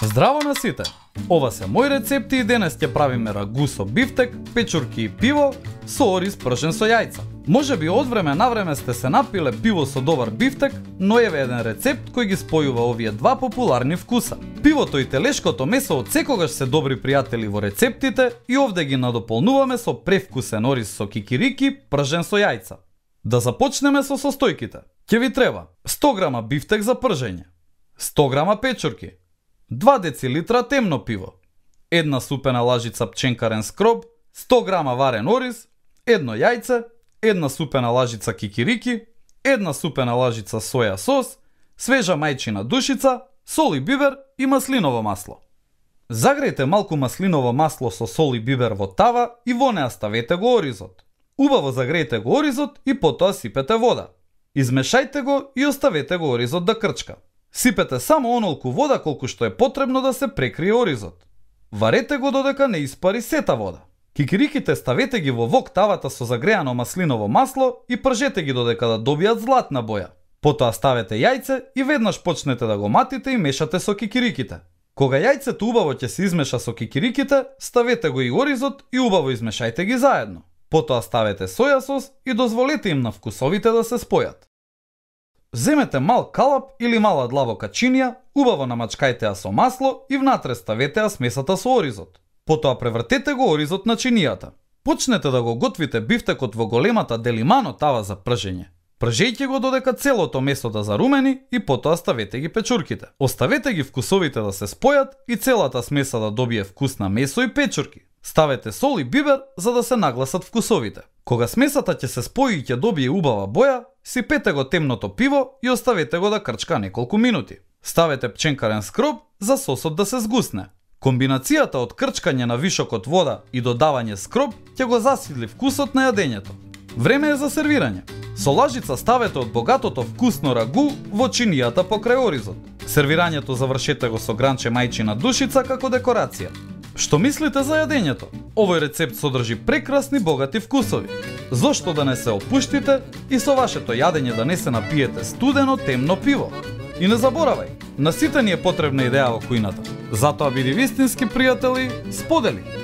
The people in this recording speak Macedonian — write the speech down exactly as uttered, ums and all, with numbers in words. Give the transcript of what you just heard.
Здраво на сите! Ова се мои рецепти и денес ќе правиме рагу со бифтек, печурки и пиво со ориз пршен со јајца. Може би од време на време сте се напиле пиво со добар бифтек, но еве еден рецепт кој ги спојува овие два популарни вкуса. Пивото и телешкото месо од секогаш се добри пријатели во рецептите и овде ги надополнуваме со превкусен ориз со кикирики, пржен со јајца. Да започнеме со состојките. Ќе ви треба сто грама бифтек за пржење, сто грама печурки, два децилитра темно пиво, една супена лажица пченкарен скроб, сто грама варен ориз, едно јајце, една супена лажица кикирики, една супена лажица соја сос, свежа мајчина душица, сол и бибер и маслиново масло. Загрејте малку маслиново масло со сол и бибер во тава и во неа ставете го оризот. Убаво загрејте го оризот и потоа сипете вода. Измешајте го и оставете го оризот да крчка. Сипете само онолку вода колку што е потребно да се прекрие оризот. Варете го додека не испари сета вода. Кикириките ставете ги во вок тавата со загреано маслиново масло и пржете ги додека да добијат златна боја. Потоа ставете јајце и веднаш почнете да го матите и мешате со кикириките. Кога јајцето убаво ќе се измеша со кикириките, ставете го и оризот и убаво измешајте ги заедно. Потоа ставете соја сос и дозволете им на вкусовите да се спојат. Земете мал калап или мала длабока чинија, убаво намачкајте ја со масло и внатре ставете ја смесата со оризот. Потоа превртете го оризот на чинијата. Почнете да го готвите бифтекот во големата делимано тава за пржење. Пржејте го додека целото месо да зарумени и потоа ставете ги печурките. Оставете ги вкусовите да се спојат и целата смеса да добие вкус на месо и печурки. Ставете сол и бибер за да се нагласат вкусовите. Кога смесата ќе се спои и ќе добие убава боја, сипете го темното пиво и оставете го да крчка неколку минути. Ставете пченкарен скроб за сосот да се згусне. Комбинацијата од крчкање на вишок од вода и додавање скроб ќе го засидли вкусот на јадењето. Време е за сервирање. Со лажица ставете од богатото вкусно рагу во чинијата покрај оризот. Сервирањето завршете го со гранче мајчина душица како декорација. Што мислите за јадењето? Овој рецепт содржи прекрасни богати вкусови. Зошто да не се опуштите и со вашето јадење да не се напиете студено темно пиво? И не заборавај, на сите ни е потребна идеја во кујната. Затоа биди вистински пријатели, сподели!